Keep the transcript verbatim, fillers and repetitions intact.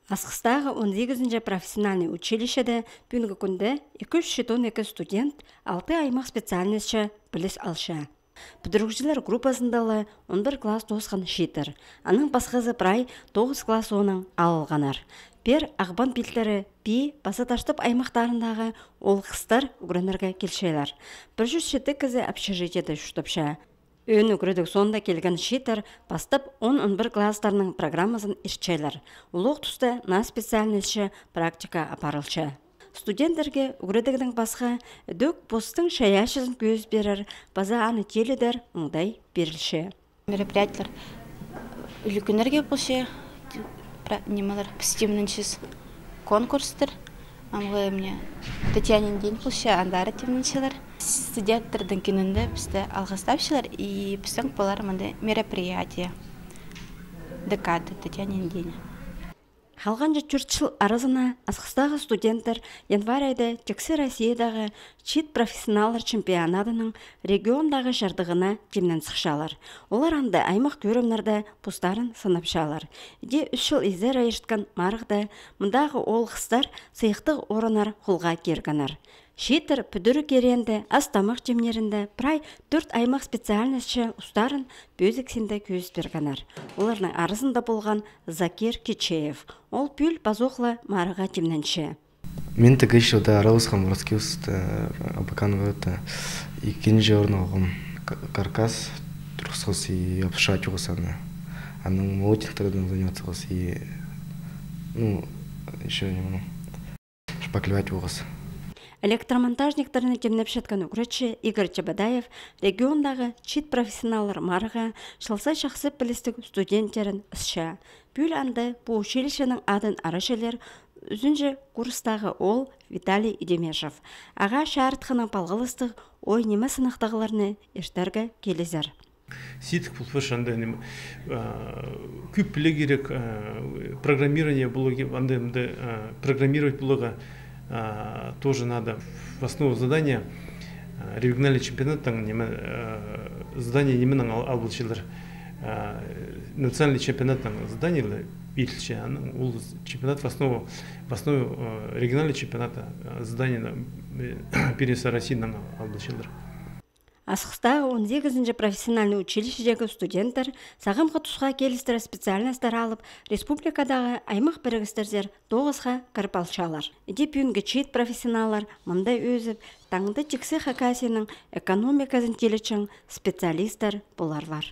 Асхыстағы он сигізінҷі профессиональный училищеде пӱӱнгі кӱнде ікі чӱс читон ікі студент алты аймах специальностьча піліс алча. Пӱдірігҷілер группазында ла он пір класс тоосхан чииттер. Аның пасхазы прай тоғыс класс соонаң алылғаннар. Пеер Ағбан пилтірі, Пии паза Таштып аймахтарындағы оол-хыстар ӱгренерге килчелер. Пір чӱс читі кізі общежитиеде чуртапча. Ӧӧн ӱгредіг соонда килген чииттер пастап он-он пір класстарның программазын иртчелер. Улуғ туста наа специальностьча практика апарылча. Студенттерге ӱгредігнең пасха, ідӧк постың чайаачызын кӧзіт пирер паза аны тилідер оңдай пирілче. Мероприятиелер ӱлӱкӱннерге полча, пра-, нимелер, піс тимненчебіс конкурстар. Амғы мына Татьянин день полча, андары тимненчелер. Студенттернің кӱнінде пісті алғыстапчалар, и пістің полар мында мероприятие. Декада Татьянин день. Халғанҷы тӧрт чыл аразына Асхыстағы студенттер январь айда тиксі Россиядағы чиит профессионаллар чемпионадының региондағы чардығына тимнен сыхчалар. Олар анда аймах кӧрімнерде постарын сынапчалар. Іди ӱс чыл изере ирткен марығда мындағы оол-хыстар сыйыхтығ орыннар холға киргеннер. Чииттер пӱдіріг иреенде, ас-тамах тимнерінде прай тӧрт аймах специальностьча устарын пӧзік синде кӧзіт пиргеннер. Оларның аразында полған Закир Кичеев. Ол пӱӱл пазох ла марығға тимненче. Мин тігі чылда араласхам Воровскийскте, Абакан городта. Ікінҷі орын алғам. К-, каркас турғысхабыс и обшивать полғабыс аны. Анаң молотниктардаң заниматься полғабыс и, ну, ещё немного. Шпаклевать полғабыс. Электромонтажниктерні тимнепчеткен ӱгретчі Игорь Чебодаев региондағы чиит профессионаллар марығға чылза чахсы пілістіг студенттерін ысча. Пӱӱл анда пу училищенің адын арачалар ӱзінҷі курстағы оол Виталий Идемешев. Ағаа чарытхынаң палғалыстығ ой-ниме сынахтағларны иртерге килізер. Сидік пол парча анда, ниме, а, кӧп пілерге кирек, а, программирование поларға, анда, анда, а, программировать поларға, а, тоже надо. В основу задания, а, региональный чемпионаттаң, ниме, а, задание нименең ал-, алыбысчалар. А, национальный чемпионаттаң задание ла пирілче, анаң ол чемпионат в основу, в основу, а, региональный чемпионата, а, задание на, э, первенство России наң алыбысчалар. Асхыстағы он сигізінҷі профессиональный училищедегі студенттер сағамғы тусха килістіре специальностьтар алып, республикадағы аймах пірігістерзер тоғысха кіріп алчалар. Іди пӱӱнгі чиит профессионаллар мында ӧзіп, таңда тиксі Хакасияның экономиказын тилетчең специалисттер поларлар.